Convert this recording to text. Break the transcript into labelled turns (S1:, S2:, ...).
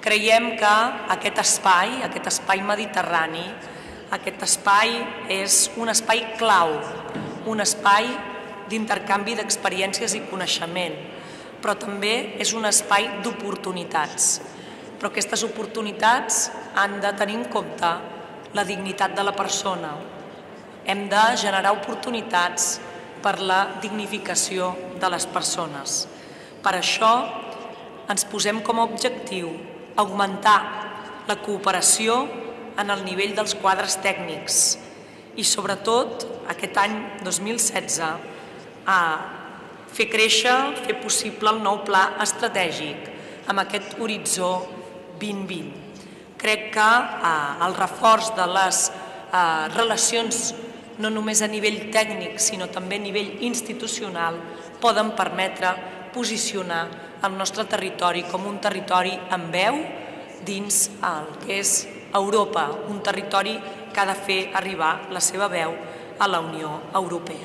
S1: Creiem que aquest espai mediterrani, aquest espai és un espai clau, un espai d'intercanvi d'experiències i coneixement, però també és un espai d'oportunitats. Però aquestes oportunitats han de tenir en compte la dignitat de la persona. Hem de generar oportunitats per la dignificació de les persones. Per això ens posem com a objectiu augmentar la cooperació en el nivell dels quadres tècnics i, sobretot, aquest any 2016, fer créixer, fer possible el nou pla estratègic amb aquest horitzó 2020. Crec que el reforç de les relacions, no només a nivell tècnic, sinó també a nivell institucional, poden permetre posicionar el nostre territori com un territori amb veu dins el que és Europa, un territori que ha de fer arribar la seva veu a la Unió Europea.